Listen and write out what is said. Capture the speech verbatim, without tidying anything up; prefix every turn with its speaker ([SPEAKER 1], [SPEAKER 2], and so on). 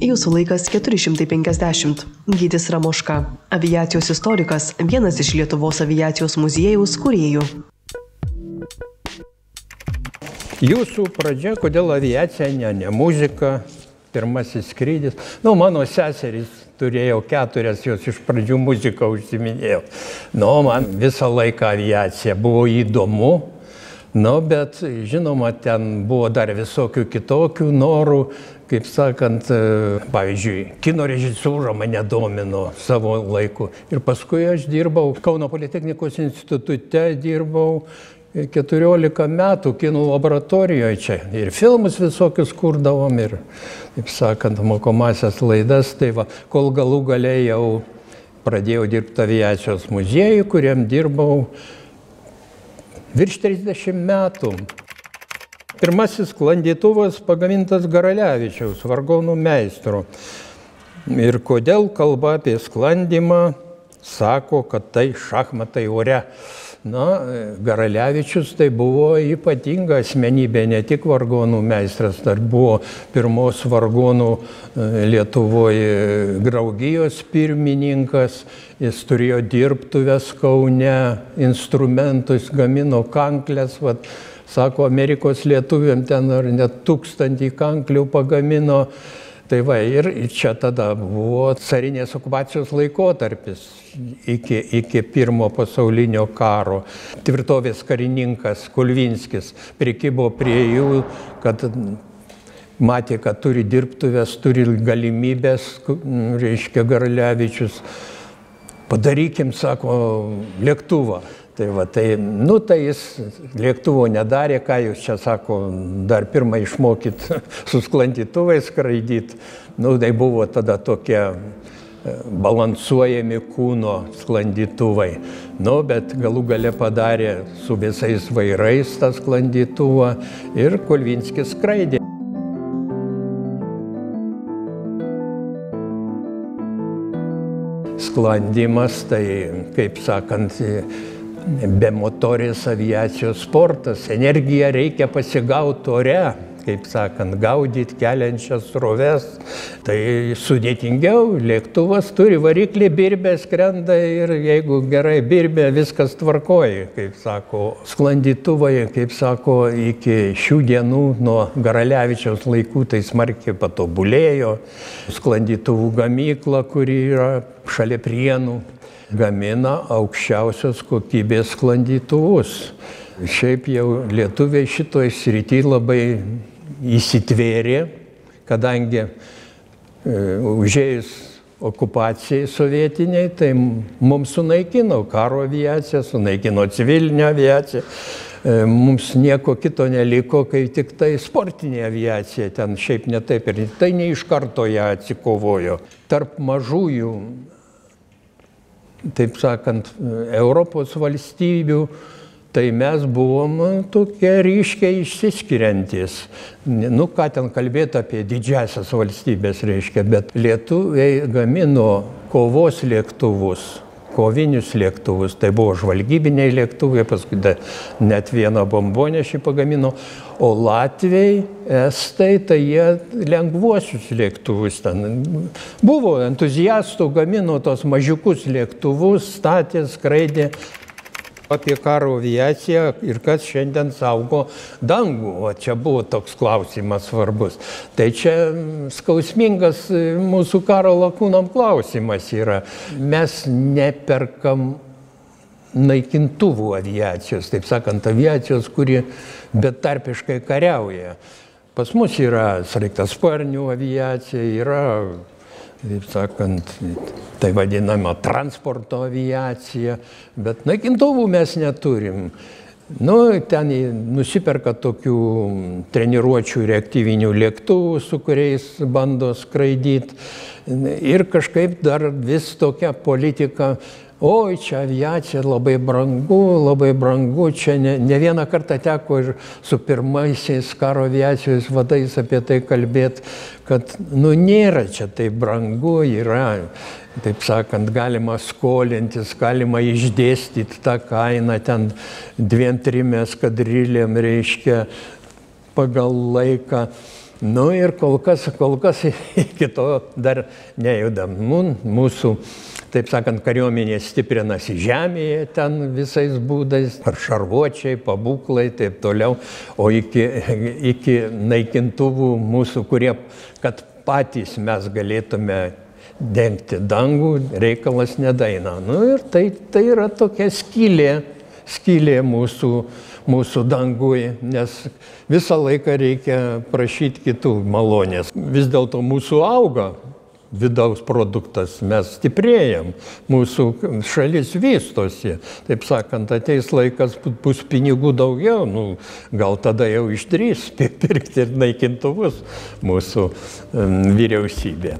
[SPEAKER 1] Jūsų laikas keturi šimtai penkiasdešimt. Gytis Ramoška, aviacijos istorikas, vienas iš Lietuvos aviacijos muziejaus kūrėjų.
[SPEAKER 2] Jūsų pradžia, kodėl aviacija, ne, ne muzika, pirmasis skrydis. Nu, mano seserys turėjau keturias, jos iš pradžių muziką užsiminėjau. Nu, man visą laiką aviacija buvo įdomu. Nu, bet, žinoma, ten buvo dar visokių kitokių norų, kaip sakant, pavyzdžiui, kino režisūra mane domino savo laiku. Ir paskui aš dirbau Kauno Politechnikos institute, dirbau keturiolika metų kino laboratorijoje čia. Ir filmus visokius kurdavom, ir, kaip sakant, mokomasias laidas. Tai va, kol galų gale jau pradėjau dirbti aviacijos muziejui, kuriam dirbau virš trisdešimt metų. Pirmasis sklandytuvas pagamintas Garalevičiaus, vargonų meistro. Ir kodėl kalba apie sklandymą, sako, kad tai šachmatai ore. Na, Garalevičius tai buvo ypatinga asmenybė, ne tik vargonų meistras, dar buvo pirmos vargonų Lietuvoje draugijos pirmininkas. Jis turėjo dirbtuves Kaune, instrumentus, gamino kanklės. Vat, sako, Amerikos lietuviam ten ar net tūkstantį kanklių pagamino. Tai va, ir čia tada buvo carinės okupacijos laikotarpis iki, iki pirmo pasaulinio karo. Tvirtovės karininkas Kulvinskis prikibo prie jų, kad matė, kad turi dirbtuves, turi galimybės, reiškia Garalevičius. Padarykim, sako, lėktuvą. Tai va, tai, nu, tai jis lėktuvo nedarė, ką jūs čia, sako, dar pirmą išmokyt su sklandytuvais skraidyt. Nu, tai buvo tada tokie balansuojami kūno sklandytuvai. Nu, bet galų gale padarė su visais vairais tą sklandytuvą ir Kulvinskis skraidė. Sklandymas, tai, kaip sakant, be motorės aviacijos sportas. Energiją reikia pasigauti ore, kaip sakant, gaudyti keliančias sroves. Tai sudėtingiau, lėktuvas turi variklį, birbė skrenda ir jeigu gerai birbė, viskas tvarkoja, kaip sako. Sklandytuvai, kaip sako, iki šių dienų nuo Garalevičiaus laikų tai smarkiai patobulėjo. Sklandytuvų gamykla, kuri yra šalia Prienų, gamina aukščiausios kokybės sklandytuvus. Šiaip jau lietuviai šitoj srity labai įsitvėrė, kadangi e, užėjus okupacijai sovietiniai, tai mums sunaikino karo aviaciją, sunaikino civilinę aviaciją. E, mums nieko kito neliko, kai tik tai sportinė aviacija ten šiaip ne taip ir tai ne iš karto ją atsikovojo. Tarp mažųjų, taip sakant, Europos valstybių, tai mes buvom tokie ryškiai išsiskiriantys. Nu, ką ten kalbėti apie didžiasias valstybės, reiškia, bet lietuviai gamino kovos lėktuvus, kovinius lėktuvus, tai buvo žvalgybiniai lėktuvai, paskui net vieną bombonešį pagamino, o latviai, estai, tai jie lengvuosius lėktuvus ten. Buvo entuziastų, gamino tos mažiukus lėktuvus, statė, skraidė. Apie karo aviaciją ir kas šiandien saugo dangų. O čia buvo toks klausimas svarbus. Tai čia skausmingas mūsų karo lakūnam klausimas yra. Mes neperkam naikintuvų aviacijos, taip sakant, aviacijos, kuri betarpiškai kariauja. Pas mus yra sraigtasparnių aviacija, yra, taip sakant, tai vadinama transporto aviacija, bet naikintuvų mes neturim. Nu, ten nusiperka tokių treniruočių reaktyvinių lėktuvų, su kuriais bando skraidyti. Ir kažkaip dar vis tokia politika, oi, čia aviacija labai brangu, labai brangu, čia ne, ne vieną kartą teko ir su pirmaisiais karo aviacijos vadais apie tai kalbėti, kad, nu, nėra čia taip brangu, yra, taip sakant, galima skolintis, galima išdėstyti tą kainą ten dviem, trim eskadrilėm, reiškia, pagal laiką. Nu ir kol kas, kol kas iki to dar nejudam. Mūsų, taip sakant, kariuomenė stiprinasi žemėje ten visais būdais, ar šarvuočiai, pabūklai, taip toliau, o iki, iki naikintuvų mūsų, kurie, kad patys mes galėtume dengti dangų, reikalas nedaina. Nu ir tai, tai yra tokia skylė, skylė mūsų, mūsų dangui, nes visą laiką reikia prašyti kitų malonės. Vis dėlto mūsų auga vidaus produktas, mes stiprėjam, mūsų šalis vystosi. Taip sakant, ateis laikas, bus pinigų daugiau, nu, gal tada jau išdrįs pirkti ir naikintuvus mūsų um, vyriausybė.